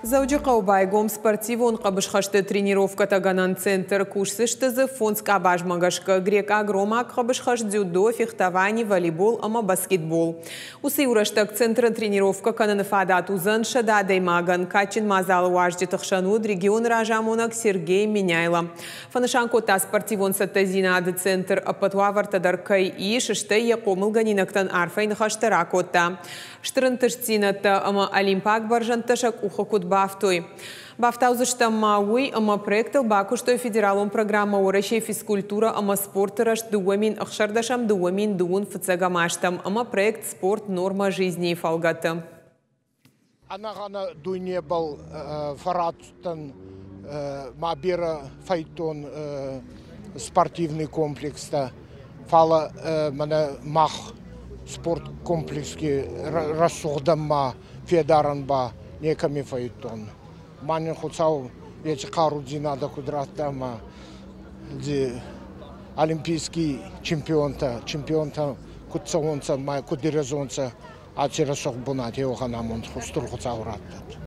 Дзӕуджыхъӕуы байгом спортивон хъӕбысхӕсты тренировкӕтӕгӕнӕн центр. Кусдзысты дзы фондз къабазмӕ гӕсгӕ: грекъаг-ромаг хъӕбысхӕст, дзюдо, фехтовани, волейбол ӕмӕ баскетбол. Уыцы иу рӕстӕг центры тренировкӕ кӕныны фадат уыдзӕн 100 адӕймагӕн. Кадджын мадзалы уазджыты хсӕн уыд регионы разамонӕг Сергей Меняйло. Фӕнысан кодта, спортивон цӕттӕдзинады центр ӕппӕт уавӕртӕ дӕр кӕй ис, стӕй йӕ хъомылгӕнинӕгтӕн арфӕйы ныхӕстӕ ракодта. Стыр ӕнтыстдзинӕдтӕ ӕмӕ олимпаг бӕрзӕндтӕ сӕ къухы куыд бафтой. Бафтаудзыстӕм ма уый, ӕмӕ проектыл бакуыстой федералон программӕ Уӕрӕсейы физкультурӕ ӕмӕ спорты рӕзт 2016-ӕм 2021 азтӕм ӕмӕ проект «Спорт. Норма жизни»-йы фӕлгӕты. Ӕнӕгъӕнӕ дуйнебӕл фӕрацудтӕн ма берӕ фӕйдтон спортивный комплекстӕ, фал мӕнӕ мах спорткомплекски рӕсугъдӕн ма федарӕн ба некӕми фӕйдтон. Ма нин Хуцау еци хъарудзийнадӕ куд радта ӕма олимпийский чемпионтӕ, чемпионтӕ куд цӕуонцӕ ма куд ирӕзонцӕ, аци рӕсугъд бунати уӕхӕн амонд Устур Хуцау раттӕд.